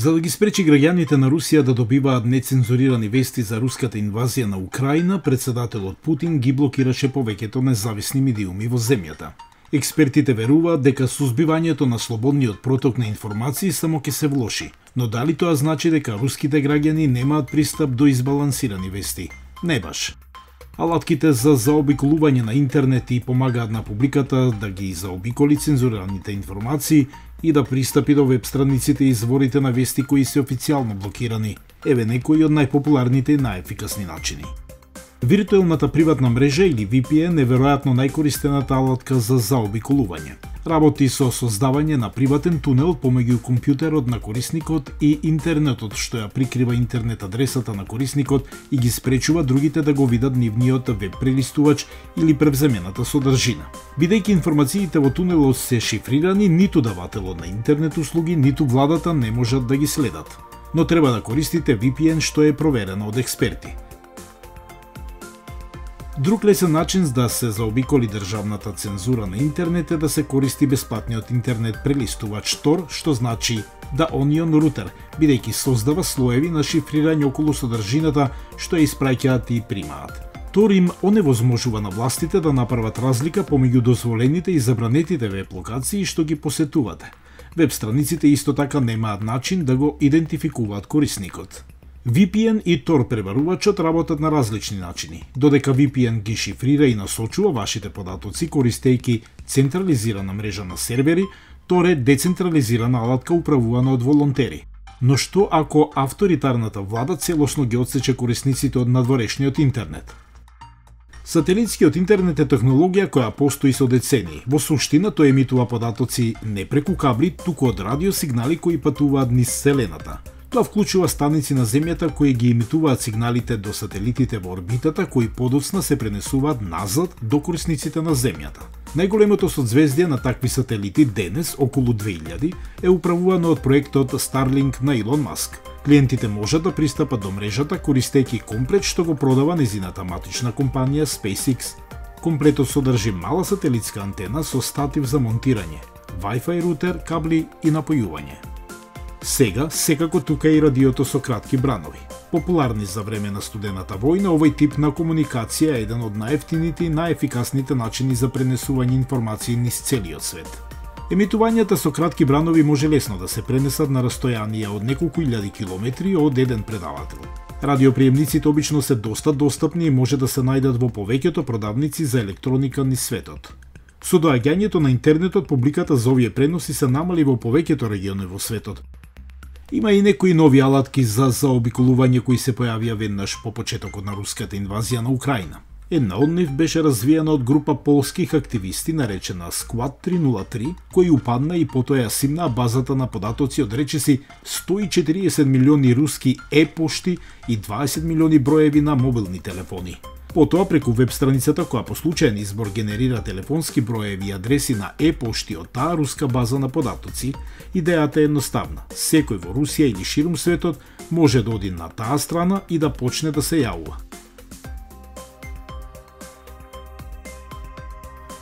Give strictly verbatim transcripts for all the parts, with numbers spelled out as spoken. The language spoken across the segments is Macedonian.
За да ги спречи граѓаните на Русија да добиваат нецензурирани вести за руската инвазија на Украина, председателот Путин ги блокираше повеќето независни медиуми во земјата. Експертите веруваат дека сузбивањето на слободниот проток на информации само ќе се влоши, но дали тоа значи дека руските граѓани немаат пристап до избалансирани вести? Не баш. Алатките за заобиколување на интернет и помагаат на публиката да ги заобиколи цензурираните информации и да пристапи до веб страниците и изворите на вести кои се официјално блокирани. Еве некои од најпопуларните и најефикасни начини. Виртуелната приватна мрежа или ви пи ен е веројатно најкористената алатка за заобиколување. Работи со создавање на приватен тунел помеѓу компјутерот на корисникот и интернетот, што ја прикрива интернет адресата на корисникот и ги спречува другите да го видат нивниот веб прелистувач или превземената содржина. Бидејќи информациите во тунелот се шифрирани, ниту давателот на интернет услуги, ниту владата не можат да ги следат. Но треба да користите ви пи ен што е проверено од експерти. Друг лесен начин да се заобиколи државната цензура на интернет е да се користи бесплатниот интернет прелистувач Tor, што значи да Onion Router, бидејќи создава слоеви на шифрирање околу содржината што ја испраќаат и примаат. Tor им оневозможува на властите да направат разлика помеѓу дозволените и забранетите веб локации што ги посетувате. Веб страниците исто така немаат начин да го идентификуваат корисникот. ви пи ен и Tor пребарувачот работат на различни начини. Додека ви пи ен ги шифрира и насочува вашите податоци користејќи централизирана мрежа на сервери, Tor е децентрализирана алатка управувана од волонтери. Но што ако авторитарната влада целосно ги отсече корисниците од надворешниот интернет? Сателитскиот интернет е технологија која постои со децении. Во суштина тој емитува податоци не преку кабли, туку од радиосигнали кои патуваат низ Вселената. Тоа вклучува станици на земјата кои ги емитуваат сигналите до сателитите во орбитата, кои подоцна се пренесуваат назад до корисниците на земјата. Најголемото созвездие на такви сателити денес, околу две илјади, е управувано од проектот Starlink на Илон Маск. Клиентите можат да пристапат до мрежата користејќи комплет што го продава незината матична компанија SpaceX. Комплетот содржи мала сателитска антена со статив за монтирање, Wi-Fi рутер, кабли и напојување. Сега, секако тука е и радиото со кратки бранови. Популарни за време на студената војна, овој тип на комуникација е еден од најефтините и најефикасните начини за пренесување информации низ целиот свет. Емитувањата со кратки бранови може лесно да се пренесат на растојанија од неколку илјади километри од еден предавател. Радиоприемниците обично се доста достапни и може да се најдат во повеќето продавници за електроника низ светот. Со доаѓањето на интернетот, публиката за овие преноси се намали во повеќето региони во светот. Има и некои нови алатки за заобиколување кои се појавија веднаш по почетокот на руската инвазија на Украина. Една од нив беше развиена од група полских активисти наречена Squad три нула три, кои упадна и потоа ја симнаа базата на податоци од речиси сто и четириесет милиони руски е-пошти и дваесет милиони броеви на мобилни телефони. Потоа преку веб страницата која по случаен избор генерира телефонски броеви и адреси на е-пошти од таа руска база на податоци, идејата е едноставна. Секој во Русија или ширум светот може да оди на таа страна и да почне да се јавува.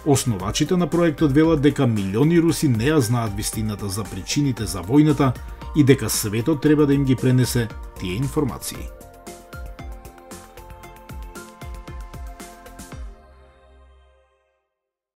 Основачите на проектот велат дека милиони руси не ја знаат вистината за причините за војната и дека светот треба да им ги пренесе тие информации.